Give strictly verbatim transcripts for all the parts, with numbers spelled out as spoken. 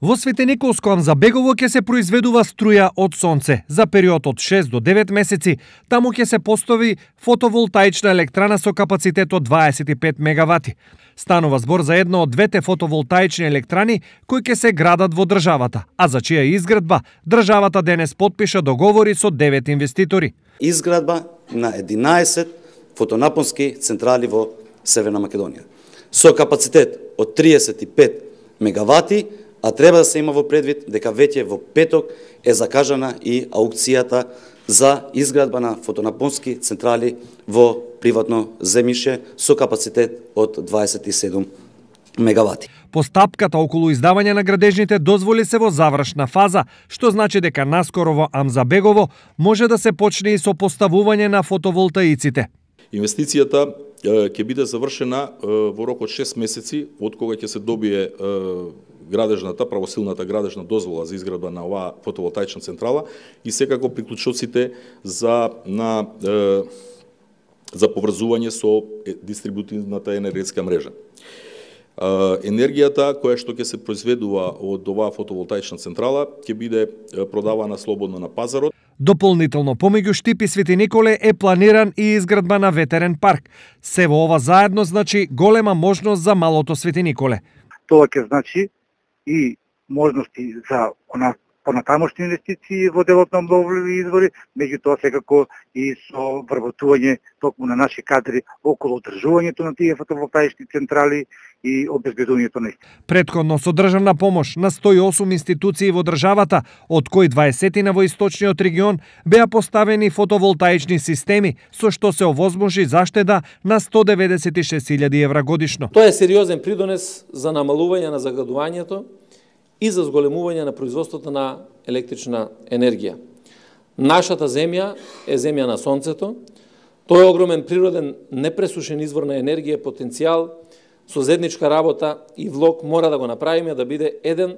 Во Светениколско Амзабегово ќе се произведува струја од сонце за период од шест до девет месеци. Таму ќе се постави фотоволтаична електрана со капацитет од дваесет и пет мегавати. Станува збор за една од двете фотоволтаични електрани кои ќе се градат во државата, а за чија изградба државата денес потпиша договори со девет инвеститори. Изградба на единаесет фотонапонски централи во Северна Македонија со капацитет од триесет и пет мегавати, а треба да се има во предвид дека веќе во петок е закажана и аукцијата за изградба на фотонапонски централи во приватно земјиште со капацитет од дваесет и седум мегавати. Постапката околу издавање на градежните дозволи се во завршна фаза, што значи дека наскоро во Амзабегово може да се почне и со поставување на фотоволтаиците. Инвестицијата ќе биде завршена во рок од шест месеци од кога ќе се добие градежната, правосилната градежна дозвола за изградба на оваа фотоволтаична централа и секако приклучоците за на е, за поврзување со дистрибутивната енергетска мрежа. Е, енергијата која што ќе се произведува од оваа фотоволтаична централа ќе биде продавана слободно на пазарот. Дополнително помеѓу Штип и Свети Николе е планиран и изградба на ветерен парк. Се во ова заедно значи голема можност за малото Свети Николе. Тоа ќе значи и можности за понатамошни инвестиции во делот на обновливи извори, меѓутоа секако и со вработување токму на наши кадри околу одржувањето на тие фотоволтаични централи и обезбедувањето на исти. Претходно со државна помош на сто и осум институции во државата, од кои дваесет во источниот регион, беа поставени фотоволтаични системи, со што се овозможи заштеда на сто деведесет и шест илјади евра годишно. Тоа е сериозен придонес за намалување на загадувањето и за зголемување на производството на електрична енергија. Нашата земја е земја на сонцето. Тој е огромен природен непресушен извор на енергија, потенцијал, со заедничка работа и влог мора да го направиме да биде еден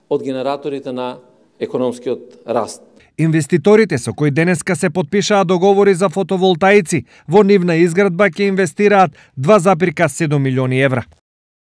од генераторите на економскиот раст. Инвеститорите со кои денеска се потпишаа договори за фотоволтаици во нивна изградба ќе инвестираат два зарез седум милиони евра.